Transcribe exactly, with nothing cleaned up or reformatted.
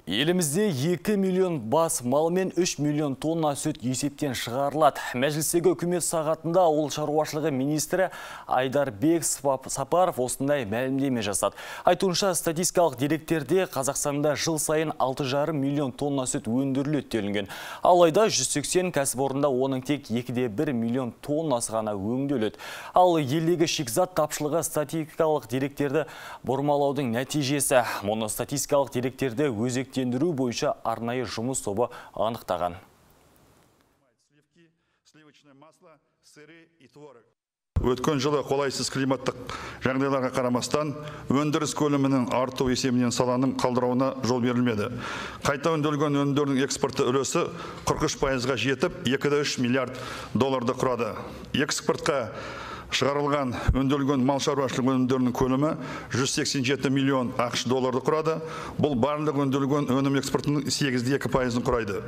Елімізде екі миллион бас мал мен үш миллион тонна сүт есептен шығарылады. Мәжілістегі үкімет сағатында ауыл шаруашылығы министрі Айдарбек Сапаров осындай мәлімдеме жасады. Айтуынша статистикалық деректерде Қазақстанда жыл сайын алты жарым миллион тонна сүт өндіріледі делінген. Алайда жүз сексен кәсіпорында оның тек екі де бір миллион тоннасы ғана өңделеді. Ал елдегі шикізат тапшылығы статистикалық деректерді бұрмалаудың нәтижесі. Мұны статистикалық деректерді өзекте тендіру бойынша арнайы жұмыс тобы анықтаған. Өткен жылы қолайсыз климаттық жағдайларға қарамастан өндіріс көлемінің арту есебінен саланың қалдырауына жол берілмеді. Қайта өңделген өнімдердің экспорты үлесі қырық үш пайызға жетіп, екі де үш миллиард долларды құрады. Экспортқа шығарылған өңделген мал шаруашылығы өнімдерінің көлемі жүз сексен жеті миллион ақш долларды құрады. Бұл барлық өңделген өнім экспортының сегіз де екі пайызын құрайды.